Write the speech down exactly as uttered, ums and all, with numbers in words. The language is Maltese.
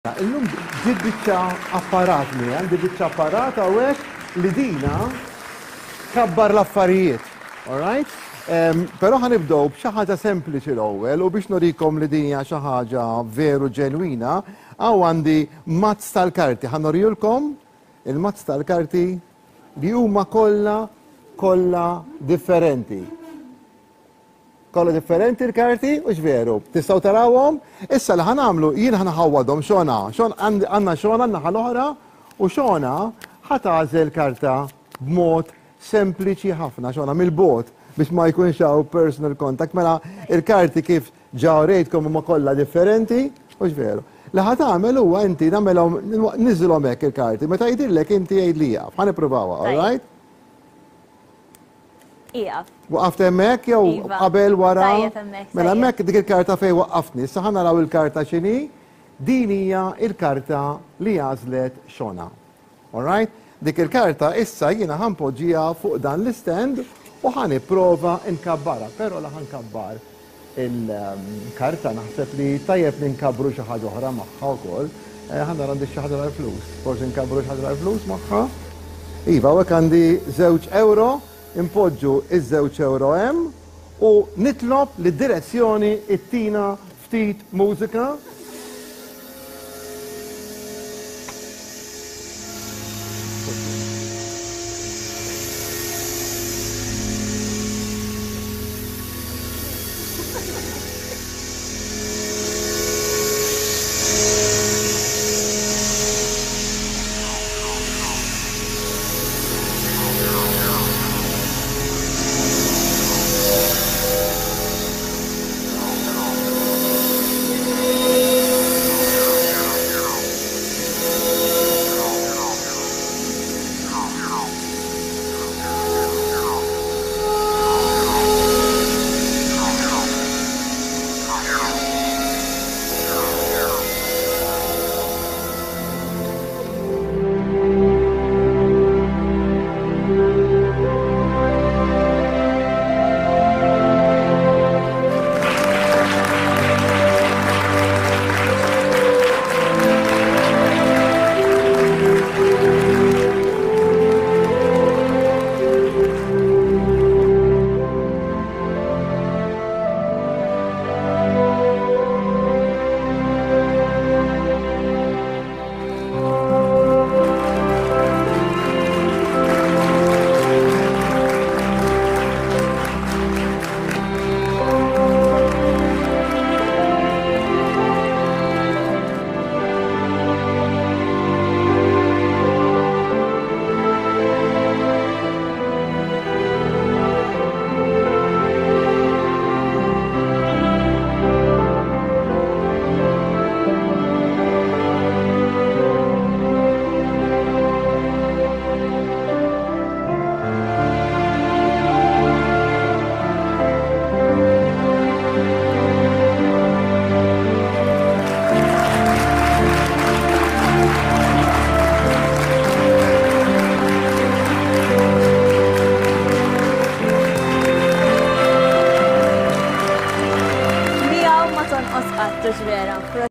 Illum ġibt biċċa apparat mi, għandi biċċa apparat hawnhekk li dina tkabbar l-affarijiet. All right? Um, Però ħa nibdew b'xi ħaġa sempliċi l-ewwel u biex nurikom li din hija xi ħaġa veru ġenwina, hawn għandi mazz tal-karti. Ħa nurijulkom il-mazz tal-karti li huma kollha kollha differenti. Kollha differenti l-karti, u veru. Tistgħu tarawhom? Issa li ħa nagħmlu, jien ħa nħawwadhom Xona. Xon għandna Xona naħa l-oħra u Xona ħa tagħżel karta b'mod sempliċi ħafna, Xona mill-bogħod biex ma jkunx hawn personal contact. Mela il-karti kif ġa urejtkom huma kollha differenti, u veru. Li ħa tagħmel huwa inti nagħmelhom niżilhom hekk il-karti, meta jidhirlek inti għid li jaf. Ħa nippruvawha, all right? Ija. Waqaft hemmhekk jew Iva. Qabel, wara? Tajjeb hemmhekk, Mela tajjeb. Hemmhekk dik il-karta fejn waqqaftni. Issa ħa naraw il-karta x'inhi. Din hija il-karta li għażlet Xona. All right? Dik il-karta issa jiena ħa npoġġiha fuq dan l-stand u ħa nipprova nkabbarha, però la ħa nkabbar il-karta naħseb li tajjeb li nkabbru xi ħaġa oħra magħha wkoll. Eh, Ħa nara għandi xi ħaġa tal-flus. Forsi nkabbru xi ħaġa tal-flus magħha. Iva, hawnhekk għandi żewġ euro, impoġġu iż-żewġ euro hemm u nitlob li direzzjoni ittina ftit mużika.